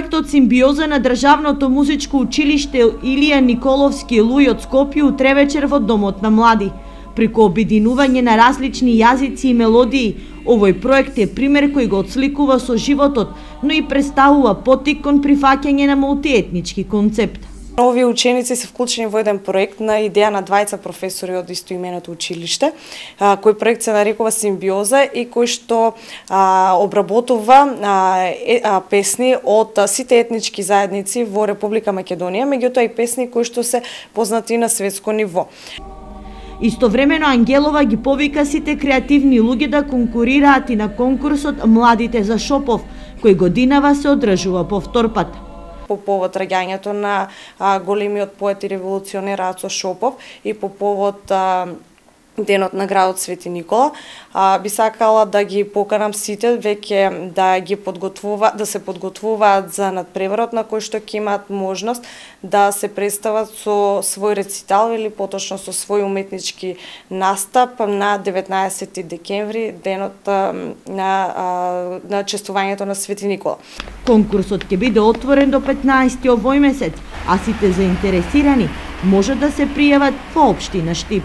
Проектот Симбиоза на Државното музичко училиште Илија Николовски Луј од Скопје утре вечер во Домот на млади. Преку обединување на различни јазици и мелодии, овој проект е пример кој го отсликува со животот, но и представува поттик кон прифаќање на мултиетнички концепт. Овие ученици се вклучени во еден проект на идеја на двајца професори од истоименото училиште, кој проект се нарекува Симбиоза и кој што обработува песни од сите етнички заедници во Република Македонија, меѓутоа и песни кои што се познати на светско ниво. Истовремено Ангелова ги повика сите креативни луѓе да конкурираат и на конкурсот Младите за Шопов, кој годинава се одржува повторпат. По повод раѓањето на големиот поет и револуционер Ацо Шопов и по повод денот на градот Свети Никола, би сакала да ги поканам сите веќе да се подготвуваат за надпреварот на кој што ќе имаат можност да се представат со свој рецитал или поточно со свој уметнички настап на 19 декември, денот на чествувањето на Свети Никола. Конкурсот ќе биде отворен до 15 овој месец, а сите заинтересирани може да се пријават во општина Штип.